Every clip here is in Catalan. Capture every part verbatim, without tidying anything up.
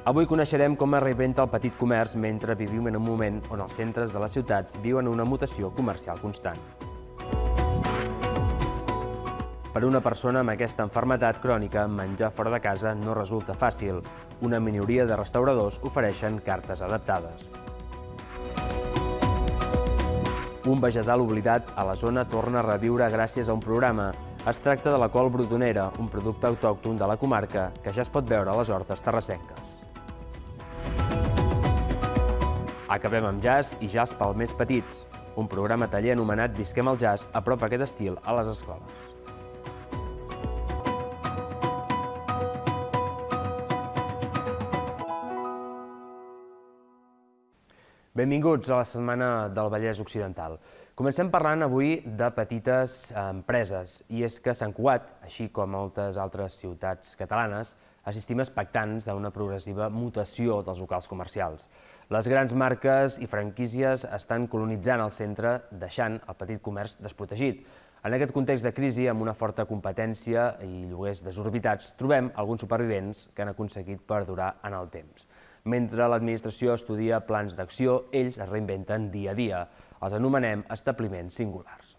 Avui coneixerem com es reinventa el petit comerç mentre vivim en un moment on els centres de les ciutats viuen una mutació comercial constant. Per a una persona amb aquesta malaltia crònica, menjar fora de casa no resulta fàcil. Una minoria de restauradors ofereixen cartes adaptades. Un vegetal oblidat a la zona torna a reviure gràcies a un programa. Es tracta de la col brotonera, un producte autòcton de la comarca que ja es pot veure a les hortes terrassenques. Acabem amb jazz i jazz pels més petits, un programa taller anomenat Visquem el jazz apropa aquest estil a les escoles. Benvinguts a la Setmana del Vallès Occidental. Comencem parlant avui de petites empreses, i és que a Sant Cugat, així com moltes altres ciutats catalanes, assistim expectants d'una progressiva mutació dels locals comercials. Les grans marques i franquícies estan colonitzant el centre, deixant el petit comerç desprotegit. En aquest context de crisi, amb una forta competència i lloguers desorbitats, trobem alguns supervivents que han aconseguit perdurar en el temps. Mentre l'administració estudia plans d'acció, ells es reinventen dia a dia. Els anomenem establiments singulars.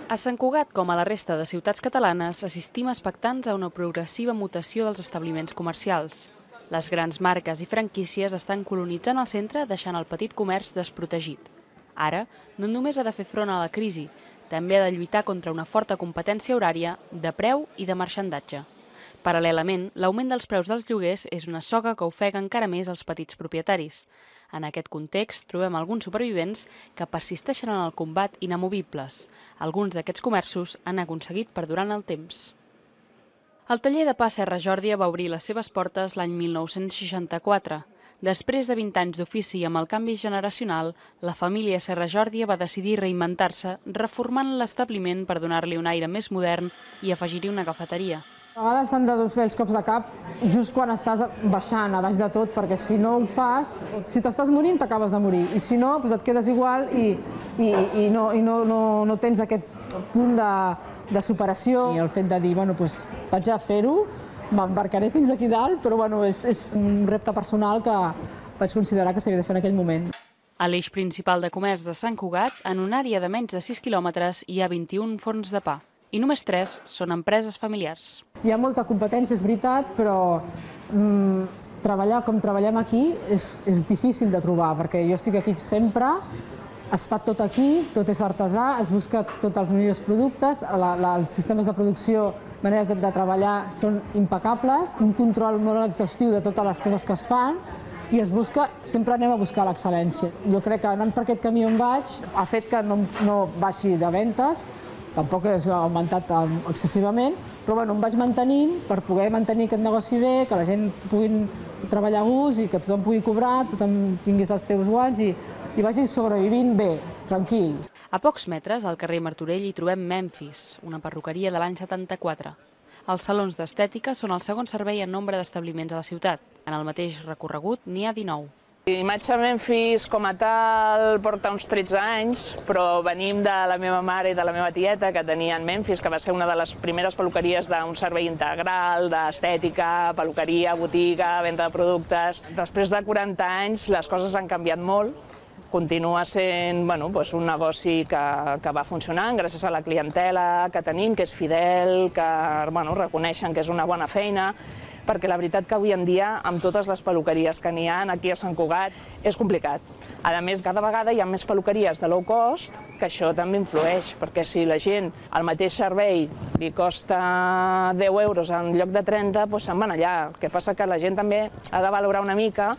A Sant Cugat, com a la resta de ciutats catalanes, assistim expectants a una progressiva mutació dels establiments comercials. Les grans marques i franquícies estan colonitzant el centre, deixant el petit comerç desprotegit. Ara, no només ha de fer front a la crisi, també ha de lluitar contra una forta competència horària, de preu i de marxandatge. Paral·lelament, l'augment dels preus dels lloguers és una soga que ofega encara més els petits propietaris. En aquest context, trobem alguns supervivents que persisteixen en el combat inamovibles. Alguns d'aquests comerços han aconseguit perdurar en el temps. El taller de pa Serra Jòrdia va obrir les seves portes l'any mil nou-cents seixanta-quatre. Després de vint anys d'ofici i amb el canvi generacional, la família Serra Jòrdia va decidir reinventar-se, reformant l'establiment per donar-li un aire més modern i afegir-hi una cafeteria. A vegades s'han de fer els cops de cap just quan estàs baixant, a baix de tot, perquè si no ho fas, si t'estàs morint, t'acabes de morir, i si no, doncs et quedes igual i, i, i, no, i no, no, no tens aquest punt de, de superació. I el fet de dir, bueno, doncs vaig a fer-ho, m'embarcaré fins aquí dalt, però bueno, és, és un repte personal que vaig considerar que s'havia de fer en aquell moment. A l'eix principal de comerç de Sant Cugat, en una àrea de menys de sis quilòmetres, hi ha vint-i-un forns de pa. I només tres són empreses familiars. Hi ha molta competència, és veritat, però mm, treballar com treballem aquí és, és difícil de trobar, perquè jo estic aquí sempre, es fa tot aquí, tot és artesà, es busca tots els millors productes, la, la, els sistemes de producció, maneres de, de treballar són impecables, un control molt exhaustiu de totes les coses que es fan, i es busca, sempre anem a buscar l'excel·lència. Jo crec que anant per aquest camí on vaig ha fet que no, no baixi de ventes, tampoc és augmentat excessivament, però bueno, em vaig mantenint per poder mantenir aquest negoci bé, que la gent pugui treballar a gust i que tothom pugui cobrar, tothom tinguis els teus guants i, i vagis sobrevivint bé, tranquil. A pocs metres, al carrer Martorell, hi trobem Memphis, una perruqueria de l'any setanta-quatre. Els salons d'estètica són el segon servei en nombre d'establiments a la ciutat. En el mateix recorregut n'hi ha dinou. L'imatge Memphis com a tal porta uns tretze anys, però venim de la meva mare i de la meva tieta que tenien Memphis, que va ser una de les primeres peluqueries d'un servei integral, d'estètica, peluqueria, botiga, venda de productes. Després de quaranta anys les coses han canviat molt. Continua sent bueno, doncs un negoci que, que va funcionant gràcies a la clientela que tenim, que és fidel, que bueno, reconeixen que és una bona feina, perquè la veritat que avui en dia, amb totes les peluqueries que n'hi ha aquí a Sant Cugat, és complicat. A més, cada vegada hi ha més peluqueries de low cost, que això també influeix, perquè si la gent el mateix servei li costa deu euros en lloc de trenta, doncs se'n van allà. El que passa que la gent també ha de valorar una mica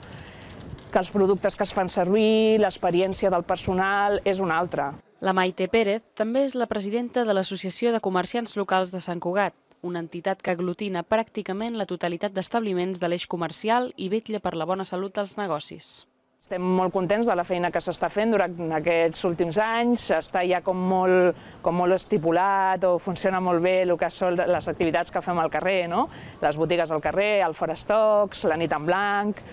que els productes que es fan servir, l'experiència del personal és una altra. La Maite Pérez també és la presidenta de l'Associació de Comerciants Locals de Sant Cugat, una entitat que aglutina pràcticament la totalitat d'establiments de l'eix comercial i vetlla per la bona salut dels negocis. Estem molt contents de la feina que s'està fent durant aquests últims anys, està ja com molt, com molt estipulat o funciona molt bé el que són les activitats que fem al carrer, no? Les botigues al carrer, el Fora Stocks, la nit en blanc,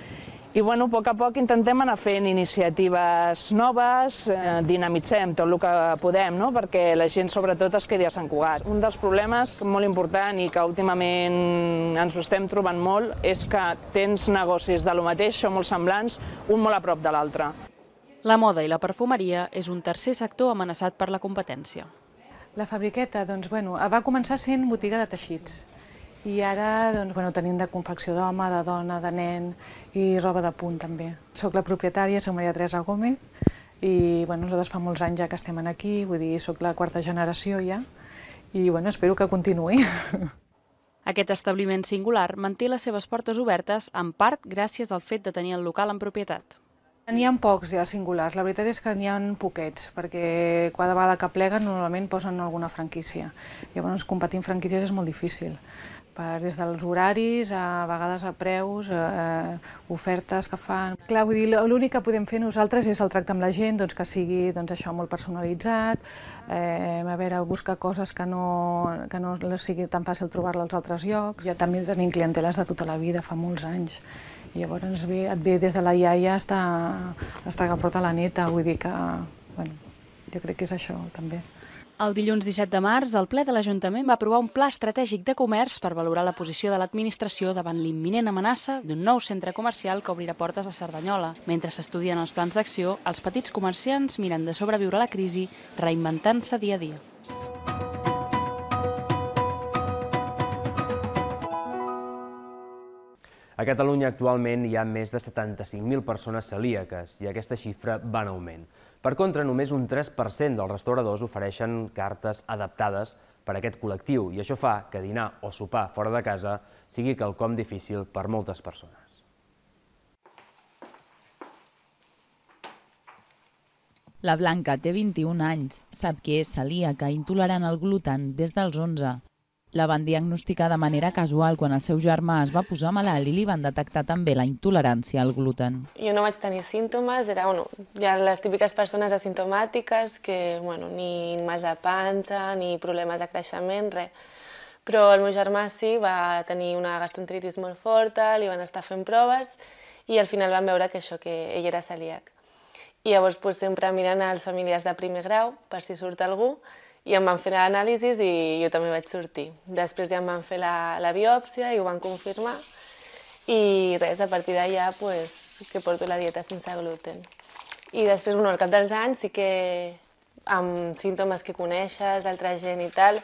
I bueno, a poc a poc intentem anar fent iniciatives noves, eh, dinamitzem tot el que podem, no? Perquè la gent sobretot es quedi a Sant Cugat. Un dels problemes molt important i que últimament ens ho estem trobant molt és que tens negocis de lo mateix, són molt semblants, un molt a prop de l'altre. La moda i la perfumeria és un tercer sector amenaçat per la competència. La Fabriqueta doncs, bueno, va començar sent botiga de teixits. I ara doncs, bueno, tenim de confecció d'home, de dona, de nen i roba de punt també. Soc la propietària, soc Maria Teresa Gómez i bueno, nosaltres fa molts anys ja que estem aquí, vull dir, soc la quarta generació ja i bueno, espero que continuï. Aquest establiment singular manté les seves portes obertes en part gràcies al fet de tenir el local en propietat. N'hi ha pocs ja singulars, la veritat és que n'hi ha poquets, perquè cada vegada que pleguen normalment posen alguna franquícia. Llavors competir en franquícies és molt difícil, per, des dels horaris, a vegades a preus, a ofertes que fan. Clar, vull dir, l'únic que podem fer nosaltres és el tracte amb la gent, doncs, que sigui doncs, això molt personalitzat, eh, a veure, buscar coses que no, que no sigui tan fàcil trobar-la als altres llocs. Ja també tenim clienteles de tota la vida, fa molts anys. I llavors ve, et ve des de la iaia fins que porta la neta, vull dir que, bueno, jo crec que és això també. El dilluns disset de març, el ple de l'Ajuntament va aprovar un pla estratègic de comerç per valorar la posició de l'administració davant l'imminent amenaça d'un nou centre comercial que obrirà portes a Cerdanyola. Mentre s'estudien els plans d'acció, els petits comerciants miren de sobreviure a la crisi, reinventant-se dia a dia. A Catalunya actualment hi ha més de setanta-cinc mil persones celíaques i aquesta xifra va en augment. Per contra, només un tres per cent dels restauradors ofereixen cartes adaptades per a aquest col·lectiu i això fa que dinar o sopar fora de casa sigui quelcom difícil per moltes persones. La Blanca té vint-i-un anys, sap que és celíaca i intolerant al gluten des dels onze. La van diagnosticar de manera casual quan el seu germà es va posar malalt i li van detectar també la intolerància al gluten. Jo no vaig tenir símptomes, era, bueno, hi ha les típiques persones asimptomàtiques que, bueno, ni mal de panxa, ni problemes de creixement, res. Però el meu germà sí, va tenir una gastroenteritis molt forta, li van estar fent proves i al final van veure que això, que ell era celíac. I llavors pues, sempre miren als familiars de primer grau per si surt algú i em van fer l'anàlisis i jo també vaig sortir. Després ja em van fer la, la biòpsia i ho van confirmar i res, a partir d'allà pues, que porto la dieta sense gluten. I després, bueno, al cap dels anys sí que amb símptomes que coneixes d'altra gent i tal,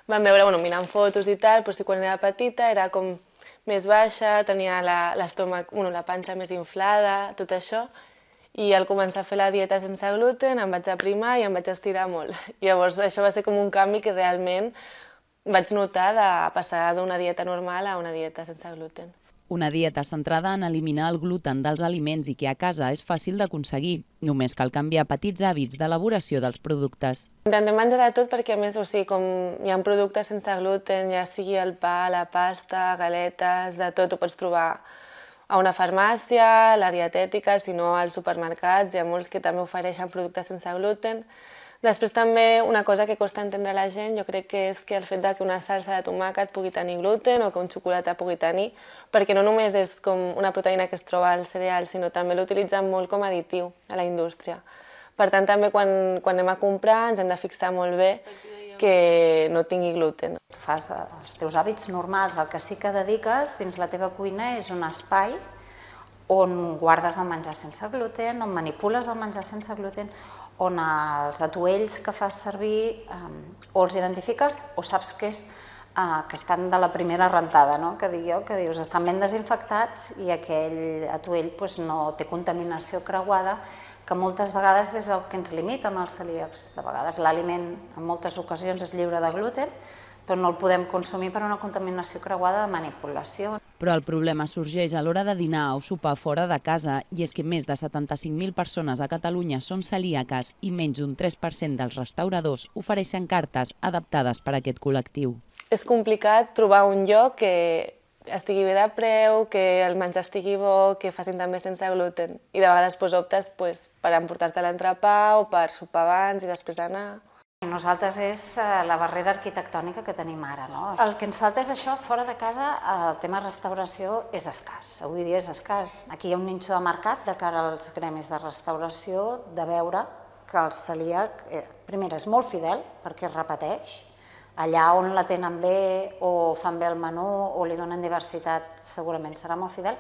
van veure, bueno, mirant fotos i tal, però sí, quan era petita era com més baixa, tenia l'estómac, bueno, la panxa més inflada, tot això. I al començar a fer la dieta sense gluten em vaig aprimar i em vaig estirar molt. Llavors això va ser com un canvi que realment vaig notar de passar d'una dieta normal a una dieta sense gluten. Una dieta centrada en eliminar el gluten dels aliments i que a casa és fàcil d'aconseguir. Només cal canviar petits hàbits d'elaboració dels productes. Intentem menjar de tot perquè, a més, o sigui, com hi ha productes sense gluten, ja sigui el pa, la pasta, galetes, de tot ho pots trobar a una farmàcia, la dietètica, si no als supermercats, hi ha molts que també ofereixen productes sense gluten. Després també una cosa que costa entendre a la gent, jo crec que és que el fet que una salsa de tomàquet pugui tenir gluten o que un xocolata pugui tenir, perquè no només és com una proteïna que es troba al cereal, sinó també l'utilitzen molt com a additiu a la indústria. Per tant, també quan, quan anem a comprar ens hem de fixar molt bé que no tingui gluten. Tu fas els teus hàbits normals, el que sí que dediques dins la teva cuina és un espai on guardes el menjar sense gluten, on manipules el menjar sense gluten, on els atuells que fas servir o els identifiques o saps que, és, que estan de la primera rentada, no? Que dic jo, que dius, estan ben desinfectats i aquell atuell doncs, no té contaminació creuada, que moltes vegades és el que ens limita amb els celíacs. De vegades l'aliment en moltes ocasions és lliure de gluten, però no el podem consumir per una contaminació creuada de manipulació. Però el problema sorgeix a l'hora de dinar o sopar fora de casa, i és que més de setanta-cinc mil persones a Catalunya són celíaques i menys d'un tres per cent dels restauradors ofereixen cartes adaptades per a aquest col·lectiu. És complicat trobar un lloc que estigui bé de preu, que el menjar estigui bo, que facin també sense gluten. I de vegades optes per emportar-te l'entrepà o per sopar abans i després anar. Nosaltres és la barrera arquitectònica que tenim ara. El que ens falta és això, fora de casa el tema restauració és escàs, avui dia és escàs. Aquí hi ha un nínxol de mercat de cara als gremis de restauració, de veure que el celíac, primera, és molt fidel perquè es repeteix, allà on la tenen bé o fan bé el menú o li donen diversitat segurament serà molt fidel,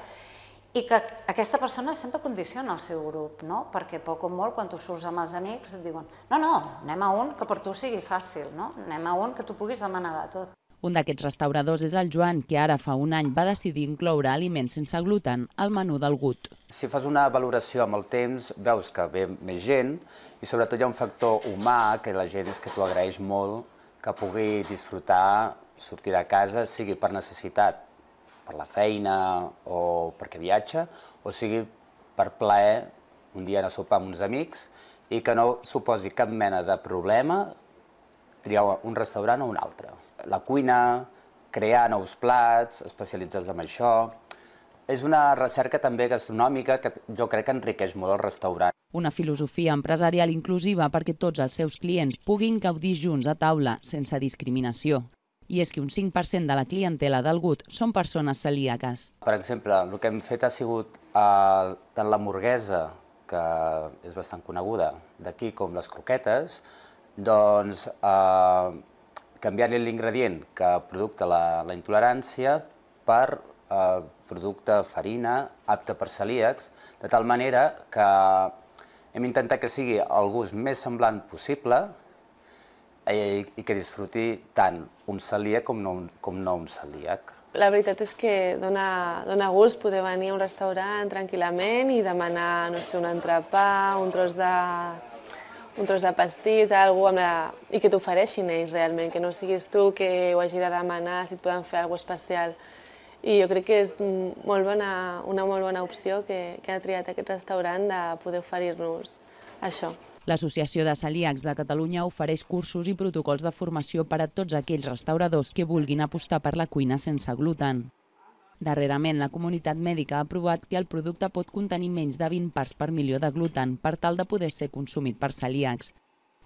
i que aquesta persona sempre condiciona el seu grup, perquè poc o molt, quan tu surts amb els amics, et diuen no, no, anem a un que per tu sigui fàcil, anem a un que tu puguis demanar de tot. Un d'aquests restauradors és el Joan, que ara fa un any va decidir incloure aliments sense gluten al menú del Gut. Si fas una valoració amb el temps, veus que ve més gent i sobretot hi ha un factor humà que la gent és que t'ho agraeix molt, que pugui disfrutar, sortir de casa, sigui per necessitat, per la feina o perquè viatja, o sigui per plaer un dia anar a sopar amb uns amics i que no suposi cap mena de problema triar un restaurant o un altre. La cuina, crear nous plats, especialitzats en això, és una recerca també gastronòmica que jo crec que enriqueix molt el restaurant. Una filosofia empresarial inclusiva perquè tots els seus clients puguin gaudir junts a taula sense discriminació. I és que un cinc per cent de la clientela del Gut són persones celíaques. Per exemple, el que hem fet ha sigut tant l'hamburguesa, que és bastant coneguda d'aquí, com les croquetes, doncs canviar-li l'ingredient que producte la intolerància per producte farina apte per celíacs, de tal manera que hem intentat que sigui el gust més semblant possible i que disfruti tant un celíac com no un celíac. La veritat és que dona gust poder venir a un restaurant tranquil·lament i demanar, no sé, un entrepà, un tros de un tros de pastís, i que t'ofereixin ells realment, que no siguis tu que ho hagi de demanar, si et poden fer alguna cosa especial. I jo crec que és una molt bona opció que ha triat aquest restaurant de poder oferir-nos això. L'Associació de Celíacs de Catalunya ofereix cursos i protocols de formació per a tots aquells restauradors que vulguin apostar per la cuina sense gluten. Darrerament, la comunitat mèdica ha aprovat que el producte pot contenir menys de vint parts per milió de gluten per tal de poder ser consumit per celíacs.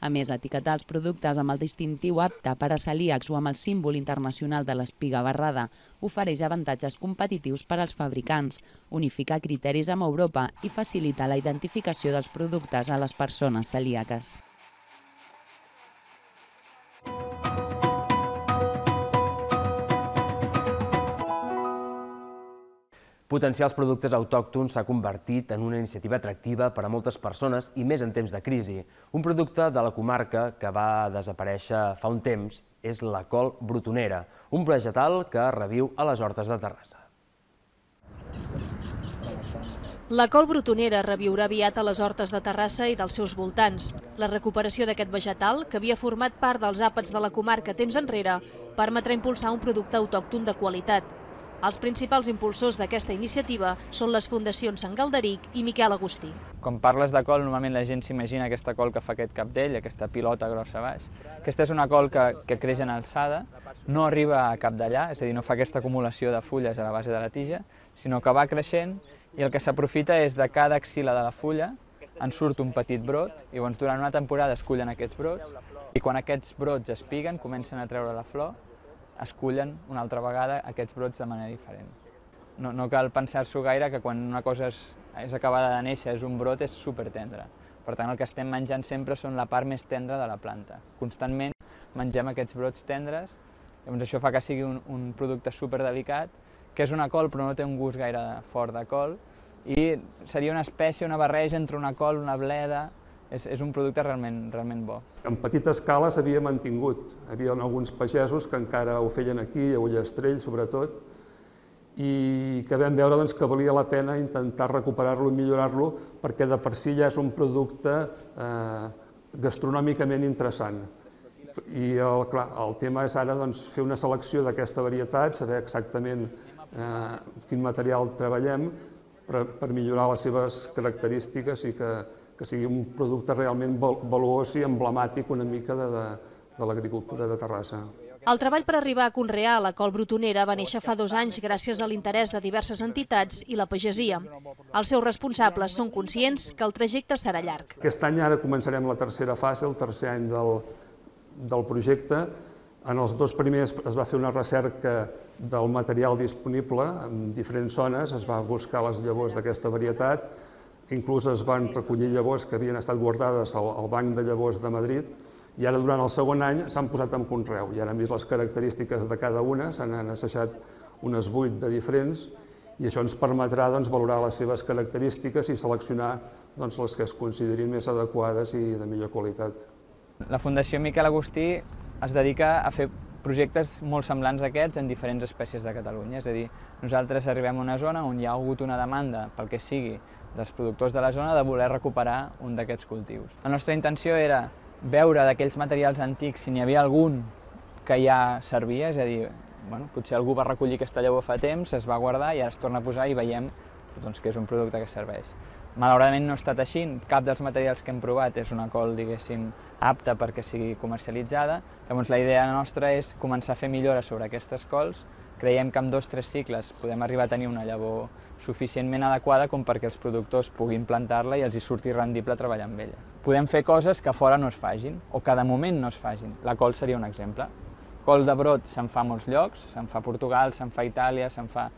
A més, etiquetar els productes amb el distintiu apte per a celíacs o amb el símbol internacional de l'espiga barrada ofereix avantatges competitius per als fabricants, unificar criteris amb Europa i facilitar la identificació dels productes a les persones celíaques. Potenciar els productes autòctons s'ha convertit en una iniciativa atractiva per a moltes persones i més en temps de crisi. Un producte de la comarca que va desaparèixer fa un temps és la col brutonera, un vegetal que reviu a les hortes de Terrassa. La col brutonera reviurà aviat a les hortes de Terrassa i dels seus voltants. La recuperació d'aquest vegetal, que havia format part dels àpats de la comarca temps enrere, permetrà impulsar un producte autòcton de qualitat. Els principals impulsors d'aquesta iniciativa són les fundacions Sant Galderic i Miquel Agustí. Quan parles de col, normalment la gent s'imagina aquesta col que fa aquest capdell, aquesta pilota grossa baix. Aquesta és una col que creix en alçada, no arriba a capdellar, és a dir, no fa aquesta acumulació de fulles a la base de la tija, sinó que va creixent i el que s'aprofita és de cada axil·la de la fulla en surt un petit brot i llavors durant una temporada es cullen aquests brots i quan aquests brots espiguen, comencen a treure la flor, es cullen una altra vegada aquests brots de manera diferent. No cal pensar-s'ho gaire que quan una cosa és acabada de néixer, és un brot, és supertendre. Per tant, el que estem menjant sempre són la part més tendra de la planta. Constantment mengem aquests brots tendres, llavors això fa que sigui un producte superdelicat, que és una col però no té un gust gaire fort de col, i seria una espècie, una barreja entre una col, una bleda. És un producte realment bo. En petita escala s'havia mantingut. Hi havia alguns pagesos que encara ho feien aquí, a Ullastrell sobretot, i que vam veure que valia la pena intentar recuperar-lo i millorar-lo perquè de per si ja és un producte gastronòmicament interessant. I el tema és ara fer una selecció d'aquesta varietat, saber exactament quin material treballem per millorar les seves característiques i que que sigui un producte realment valuós i emblemàtic una mica de l'agricultura de Terrassa. El treball per arribar a conrear la col brutonera va néixer fa dos anys gràcies a l'interès de diverses entitats i la pagesia. Els seus responsables són conscients que el trajecte serà llarg. Aquest any ara començarem la tercera fase, el tercer any del projecte. En els dos primers es va fer una recerca del material disponible en diferents zones, es va buscar les llavors d'aquesta varietat, inclús es van recollir llavors que havien estat guardades al Banc de Llavors de Madrid, i ara durant el segon any s'han posat en conreu, i ara hem vist les característiques de cada una, se n'han assajat unes vuit de diferents, i això ens permetrà valorar les seves característiques i seleccionar les que es considerin més adequades i de millor qualitat. La Fundació Miquel Agustí es dedica a fer projectes molt semblants a aquests en diferents espècies de Catalunya. És a dir, nosaltres arribem a una zona on hi ha hagut una demanda, pel que sigui, dels productors de la zona de voler recuperar un d'aquests cultius. La nostra intenció era veure d'aquells materials antics si n'hi havia algun que ja servia, és a dir, bueno, potser algú va recollir aquesta llavor fa temps, es va guardar i ara es torna a posar i veiem doncs, que és un producte que serveix. Malauradament no ha estat així, cap dels materials que hem provat és una col, diguéssim, apta perquè sigui comercialitzada. Llavors la idea nostra és començar a fer millores sobre aquestes cols. Creiem que en dos o tres cicles podem arribar a tenir una llavor suficientment adequada com perquè els productors puguin plantar-la i els hi surti rendible treballar amb ella. Podem fer coses que a fora no es facin o que de moment no es facin. La col seria un exemple. Col de brot se'n fa a molts llocs, se'n fa a Portugal, se'n fa a Itàlia, se'n fa...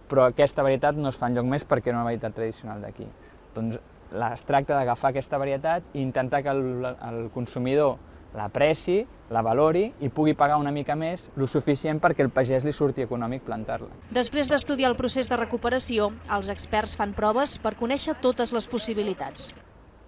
però aquesta varietat no es fa enlloc més perquè era una varietat tradicional d'aquí. Doncs es tracta d'agafar aquesta varietat i intentar que el, el consumidor l'apreci, la valori i pugui pagar una mica més, lo suficient perquè el pagès li surti econòmic plantar-la. Després d'estudiar el procés de recuperació, els experts fan proves per conèixer totes les possibilitats.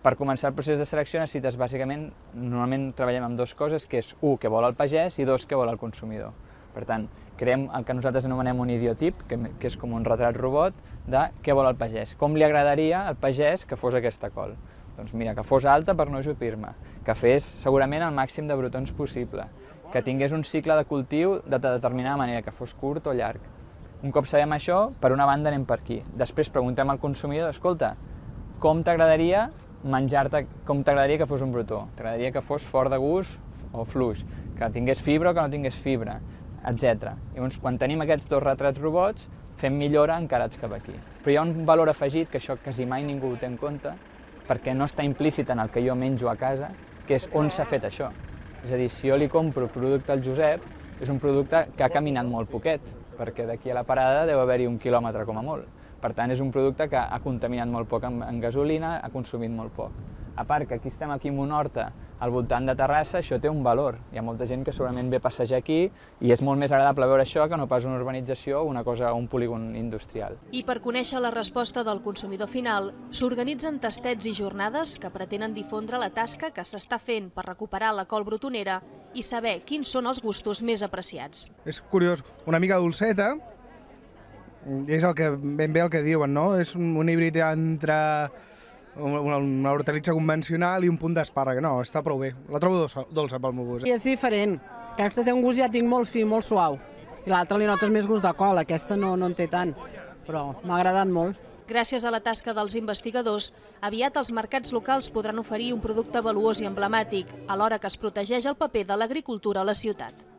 Per començar el procés de selecció necessites bàsicament, normalment treballem amb dues coses, que és u, què vol el pagès, i dos, què vol el consumidor. Per tant, creem el que nosaltres anomenem un idiotip, que, que és com un retrat robot, de què vol el pagès. Com li agradaria al pagès que fos aquesta col? Doncs mira, que fos alta per no ajupir-me, que fes segurament el màxim de brotons possible, que tingués un cicle de cultiu de determinada manera, que fos curt o llarg. Un cop sabem això, per una banda anem per aquí. Després preguntem al consumidor, escolta, com t'agradaria menjar-te, com t'agradaria que fos un brotó? T'agradaria que fos fort de gust o fluix, que tingués fibra o que no tingués fibra, etcètera. Llavors, quan tenim aquests dos retrats robots, fem millora encarats cap aquí. Però hi ha un valor afegit, que això quasi mai ningú ho té en compte, perquè no està implícit en el que jo menjo a casa, que és on s'ha fet això. És a dir, si jo li compro producte al Josep, és un producte que ha caminat molt poquet, perquè d'aquí a la parada deu haver-hi un quilòmetre com a molt. Per tant, és un producte que ha contaminat molt poc en gasolina, ha consumit molt poc. A part que aquí estem aquí en una horta al voltant de Terrassa, això té un valor. Hi ha molta gent que segurament ve a passejar aquí i és molt més agradable veure això que no pas una urbanització o una cosa, un polígon industrial. I per conèixer la resposta del consumidor final, s'organitzen tastets i jornades que pretenen difondre la tasca que s'està fent per recuperar la col brotonera i saber quins són els gustos més apreciats. És curiós, una mica dolceta, és el que ben bé el que diuen, no? És un, un híbrid entre una, una hortalitza convencional i un punt d'espàrrec. No, està prou bé. La trobo dolça, dolça pel meu gust. I és diferent. Aquesta té un gust, ja tinc molt fi, molt suau. I l'altra li notes més gust de col, aquesta no, no en té tant. Però m'ha agradat molt. Gràcies a la tasca dels investigadors, aviat els mercats locals podran oferir un producte valuós i emblemàtic, alhora que es protegeix el paper de l'agricultura a la ciutat.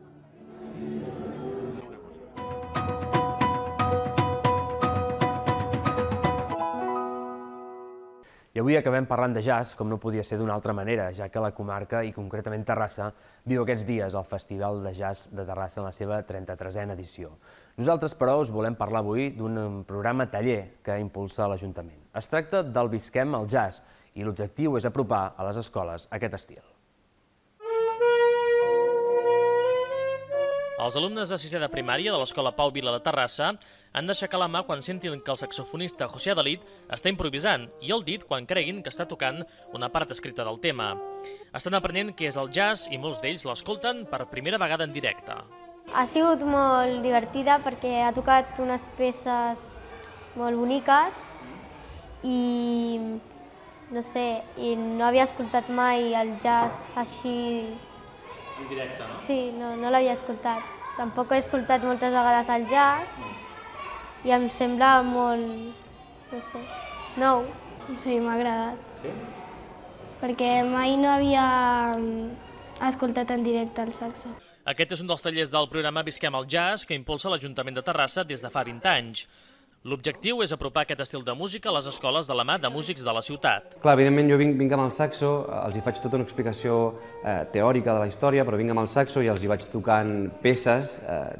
I avui acabem parlant de jazz, com no podia ser d'una altra manera, ja que la comarca, i concretament Terrassa, viu aquests dies el Festival de Jazz de Terrassa en la seva trenta-tresena edició. Nosaltres, però, us volem parlar avui d'un programa taller que impulsa l'Ajuntament. Es tracta del Visquem el Jazz, i l'objectiu és apropar a les escoles aquest estil. Els alumnes de sisè de primària de l'Escola Pau Vila de Terrassa han d'aixecar la mà quan sentin que el saxofonista José Adalit està improvisant i el dit quan creguin que està tocant una part escrita del tema. Estan aprenent què és el jazz i molts d'ells l'escolten per primera vegada en directe. Ha sigut molt divertida perquè ha tocat unes peces molt boniques i no sé, i no havia escoltat mai el jazz així... En directe, no? Sí, no, no l'havia escoltat. Tampoc he escoltat moltes vegades el jazz i em sembla molt, no sé, nou. Sí, m'ha agradat. Sí? Perquè mai no havia escoltat en directe el saxo. Aquest és un dels tallers del programa Visquem el Jazz que impulsa l'Ajuntament de Terrassa des de fa vint anys. L'objectiu és apropar aquest estil de música a les escoles de la mà de músics de la ciutat. Clar, evidentment jo vinc, vinc amb el saxo, els hi faig tota una explicació eh, teòrica de la història, però vinc amb el saxo i els hi vaig tocant peces eh,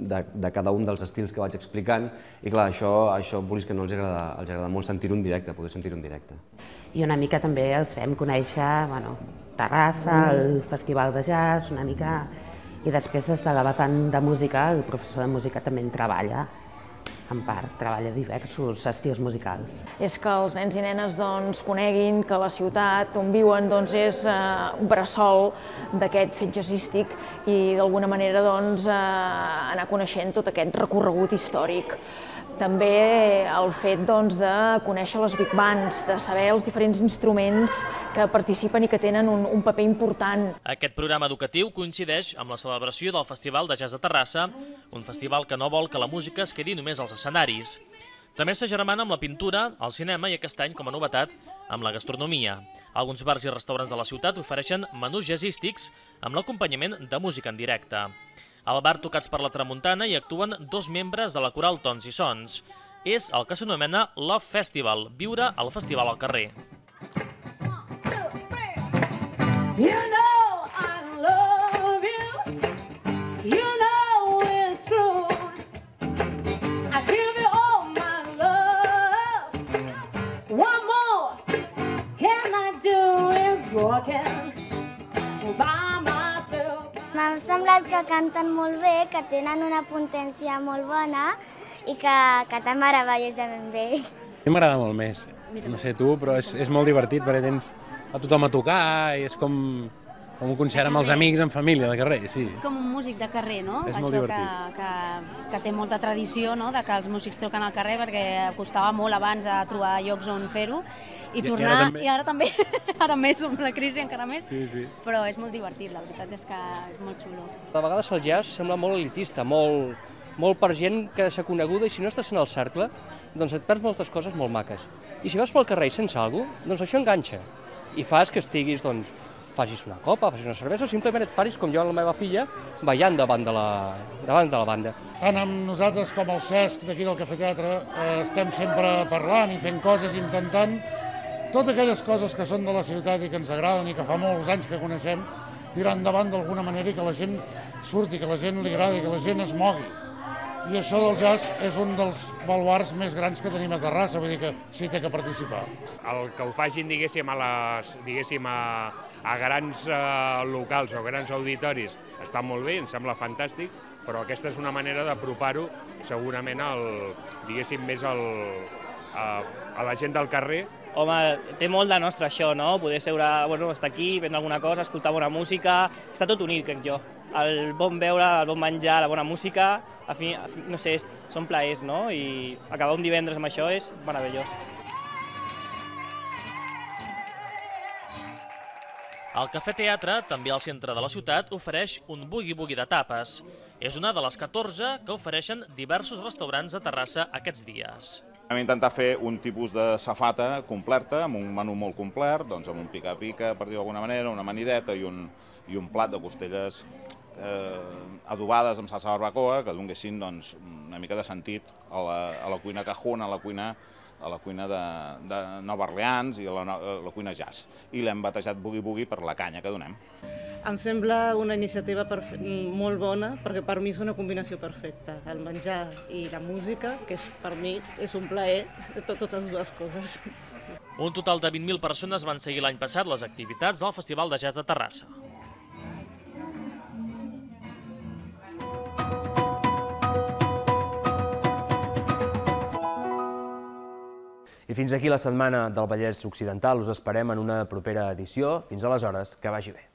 de, de cada un dels estils que vaig explicant, i clar, això, això vulguis que no els agrada, els agrada molt sentir-ho en directe, poder sentir-ho en directe. I una mica també els fem conèixer, bueno, Terrassa, el Festival de Jazz, una mica, i després des de la vessant de música, el professor de música també en treballa, en part, treballa diversos estils musicals. És que els nens i nenes doncs, coneguin que la ciutat on viuen doncs, és eh, un bressol d'aquest fet jazzístic i d'alguna manera doncs, eh, anar coneixent tot aquest recorregut històric. També el fet doncs, de conèixer les big bands, de saber els diferents instruments que participen i que tenen un, un paper important. Aquest programa educatiu coincideix amb la celebració del Festival de Jazz de Terrassa, un festival que no vol que la música es quedi només als escenaris. També s'agermana amb la pintura, el cinema i aquest any, com a novetat, amb la gastronomia. Alguns bars i restaurants de la ciutat ofereixen menús jazzístics amb l'acompanyament de música en directe. Al bar Tocats per la Tramuntana hi actuen dos membres de la coral Tons i Sons. És el que s'anomena Love Festival, viure al festival al carrer. You know I love you, you know it's true, I give you all my love, one more can I do is walking by myself. M'ha semblat que canten molt bé, que tenen una potència molt bona i que, que tan meravellosament bé. A mi m'agrada molt més, no sé tu, però és, és molt divertit perquè tens a tothom a tocar i és com, com un concert amb els amics, en família, de carrer, sí. És com un músic de carrer, no? És Això molt divertit. Que, que, que té molta tradició, no?, de que els músics toquen al carrer perquè costava molt abans a trobar llocs on fer-ho i, I, tornar, i ara també, i ara també, ara més, amb la crisi encara més, sí, sí. Però és molt divertit, la veritat és que és molt xulo. De vegades el jazz sembla molt elitista, molt, molt per gent que s'ha coneguda i si no estàs en el cercle, doncs et perds moltes coses molt maques. I si vas pel carrer sense alguna cosa, doncs això enganxa i fas que estiguis, doncs, facis una copa, facis una cervesa o simplement et paris com jo amb la meva filla ballant davant de la, davant de la banda. Tant amb nosaltres com el Cesc d'aquí del Cafè Teatre eh, estem sempre parlant i fent coses, intentant totes aquelles coses que són de la ciutat i que ens agraden i que fa molts anys que coneixem, tirar endavant d'alguna manera i que la gent surti, que la gent li agradi, que la gent es mogui. I això del jazz és un dels baluards més grans que tenim a Terrassa, vull dir que sí té que participar. El que ho facin, diguéssim, a, les, diguéssim, a, a grans eh, locals o grans auditoris està molt bé, em sembla fantàstic, però aquesta és una manera d'apropar-ho segurament al, diguéssim, més al, a, a la gent del carrer. Home, té molt de nostre això, no? Poder seure, bueno, estar aquí, prendre alguna cosa, escoltar bona música, està tot unit, crec jo. El bon beure, el bon menjar, la bona música, a fi, a fi, no sé, són plaers, no? I acabar un divendres amb això és meravellós. El Cafè Teatre, també al centre de la ciutat, ofereix un boogie-boogie de tapes. És una de les catorze que ofereixen diversos restaurants a Terrassa aquests dies. Vam intentar fer un tipus de safata completa, amb un menú molt complet, doncs amb un pica-pica, per dir-ho d'alguna manera, una amanideta i un, i un plat de costelles eh, adobades amb salsa barbacoa, que donessin doncs, una mica de sentit a la, a la cuina cajun, a la cuina, a la cuina de, de Nova Orleans i a la, a la cuina jazz. I l'hem batejat Boogie Boogie per la canya que donem. Em sembla una iniciativa molt bona, perquè per mi és una combinació perfecta. El menjar i la música, que és, per mi és un plaer, tot, totes dues coses. Un total de vint mil persones van seguir l'any passat les activitats del Festival de Jazz de Terrassa. I fins aquí la setmana del Vallès Occidental. Us esperem en una propera edició. Fins aleshores, que vagi bé.